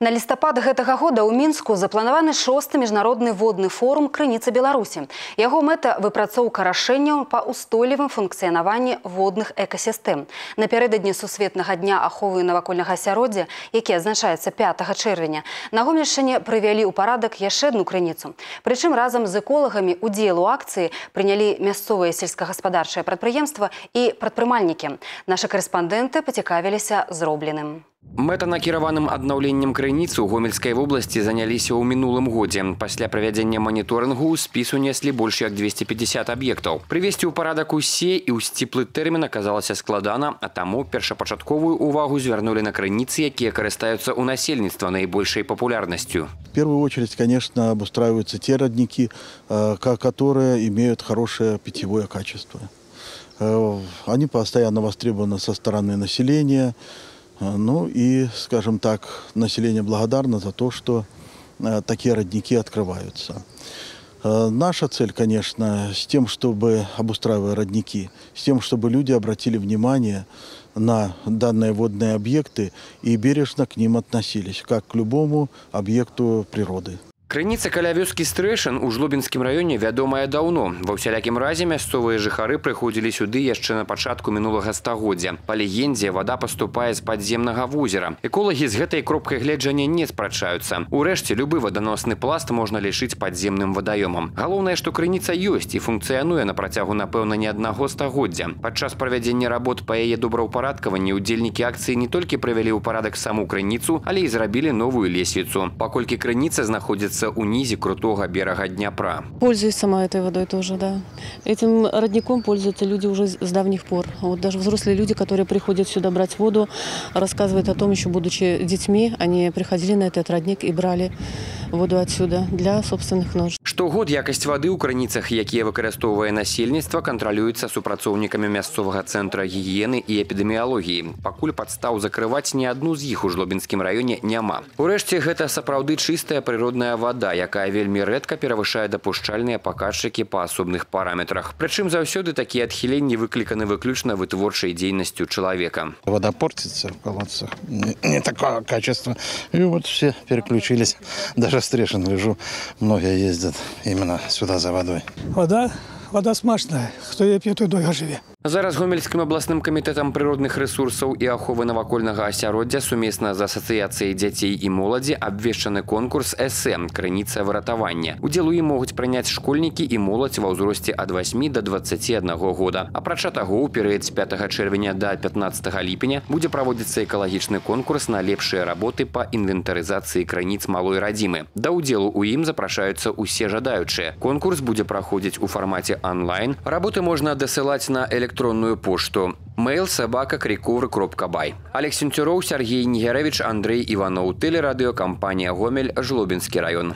На лістапад гэтага года ў Мінску запланаваны 6-й міжнародны водны форум «Крыніца Беларусі». Яго мэта – выпрацоўка рашэнняў па ўстойлівым функцыянаванні водных экасістэм. Напярэдадні Сусветнага дня аховы навакольнага асяроддзя, які адзначаецца 5 чэрвеня, на Гомельшчыне прывялі ў парадак яшчэ адну крыніцу. Прычым разам з эколагамі удзел у акцыі прынялі мясцовыя сельскагаспадарчыя прадпрыемства і прадпрымальнікі. Нашы карэспандэнты пацікавіліся зробленым. Мэтанакіраваным аднаўленнем крыніцы ў Гомельскай вобласці заняліся ў мінулым годзе. Пасля правядзення маніторынгу ў спіс унеслі больш як 250 аб'ектаў. Прывесці ў парадак усе і ў сціплы тэрмін аказалася складана, а таму першапачатковую увагу звярнулі на крыніцы, якія карыстаюцца ў насельніцтва наибольшай популярнасцю. В первую очередь, конечно, обустраиваются те родники, которые имеют хорошее питьевое качество. Они постоянно востребованы со стороны населения. Ну и, скажем так, население благодарно за то, что такие родники открываются. Наша цель, конечно, с тем, чтобы, обустраивая родники, с тем, чтобы люди обратили внимание на данные водные объекты и бережно к ним относились, как к любому объекту природы. Крыніца каля вёскі Стрэшын у Жлобінскім раёне вядомая даўно. Ва ўсялякім разе мясцовыя жыхары прыходзілі сюды яшчэ на пачатку мінулага стагоддзя. Па легендзе, вада паступае з падземнага возера. Эколагі з гэтай кропкай гледжання не спрачаюцца. Урэшце, любы ваданосны пласт можна лічыць падземным вадаёмам. Галоўнае, што крыніца ёсць і функцыянуе на працягу, напэўна, не аднаго стагоддзя. Падчас правядзення работ па яе добраўпарадкаванні ўдзельнікі акцыі не толькі прывялі ў парадак саму крыніцу, але і зрабілі новую лесвіцу. Паколькі крыніца знаходзіцца у низе крутого берега Днепра. Пользуюсь сама этой водой тоже, да. Этим родником пользуются люди уже с давних пор. Вот даже взрослые люди, которые приходят сюда брать воду, рассказывают о том, еще будучи детьми, они приходили на этот родник и брали воду отсюда для собственных нужд. Штогод якасць вады ў крыніцах, якія выкарыстоўвае насельніцтва, кантралюецца супрацоўнікамі мясцовага цэнтра гігіены і эпідэміялогіі. Пакуль падстаў закрываць ні адну з іх у Жлобінскім раёне няма. Урэшце, гэта сапраўды чыстая прыродная вода, якая вельмі рэдка перавышае дапушчальныя паказчыкі па асобных параметрах. Прычым заўсёды такія адхіленні выкліканы выключна вытворчай дзейнасцю чалавека. Вода портится в колодцах, не такого качества. И вот все переключились. Даже в Стрэшин лежу, многие ездят именно сюда за водой. Вода смачная, хто її п'є, той довго живе. Зараз Гомельскім абласным камітэтам прыродных рэсурсаў і аховы навакольнага асяроддзя сумесна з асацыяцыяй дзяцей і моладзі абвешчаны конкурс «СМ» «Крыніца выратавання». Удзел у ім могуць прыняць школьнікі і моладзь ва ўзросце ад 8 до 21 года. Апрача таго, у перыяд з 5 чэрвеня да 15 ліпеня будзе праводзіцца экалагічны конкурс на лепшыя работы па інвентарызацыі крыніц малой радзімы. Да ўдзелу ў ім запрашаюцца усе жадаючыя. Конкурс будзе праходзіць у фармаце онлайн. Работы можна дасылаць на электронную пошту mail@krikury.by. Олег Сенцюроў, Сергей Нігерэвіч, Андрей Иванов. Телерадиокомпания «Гомель», Жлобинский район.